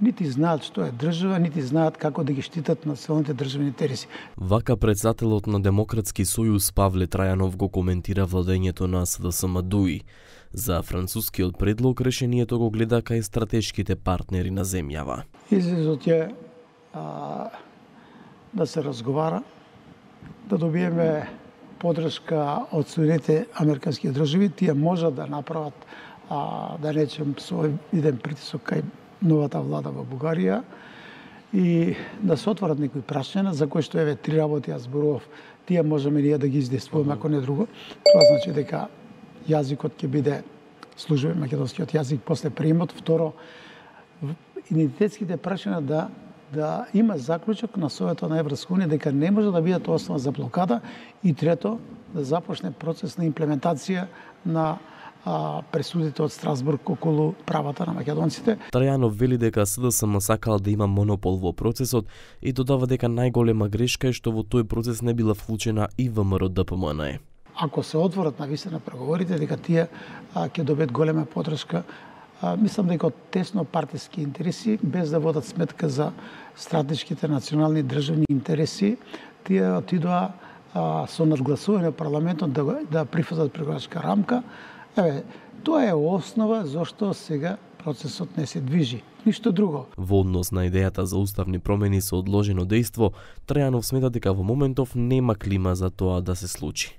нити знаат што е држава, нити знаат како да ги штитат националните државни интереси. Вака председателот на Демократски сојуз Павле Трајанов го коментира владењето на СДСМ ДУИ. За францускиот предлог решението го гледа кај стратешките партнери на земјава. Излезот е да се разговара, да добиеме подршка од Соединетите американски држави. Тие можат да направат, да речем, со иден притисок кај новата влада во Бугарија и да се отворат некои прашања за кои што еве 3 работи јас зборував, тие можеме ние да ги издействуваме, ако не друго. Тоа значи дека јазикот ќе биде службен македонскиот јазик после приемот. Второ, идентитетските прашања да има заклучок на Советот на Европска унија дека не може да бидат основа за блокада, и трето, да започне процес на имплементација на пресудите од Страсбург околу правата на македонците. Трајанов вели дека СДСМ сакал да има монопол во процесот и додава дека најголема грешка е што во тој процес не била вклучена и ВМРО-ДПМН. Ако се отворат навистина преговорите, дека тие ќе добијат голема подршка, мислам дека од тесно партиски интереси, без да водат сметка за стратешките национални државни интереси, тие отидоа со надгласување парламентот да прифатат преговарачка рамка. Тоа е основа зашто сега процесот не се движи. Ништо друго. Во однос на идејата за уставни промени со одложено дејство, Трајанов смета дека во моментов нема клима за тоа да се случи.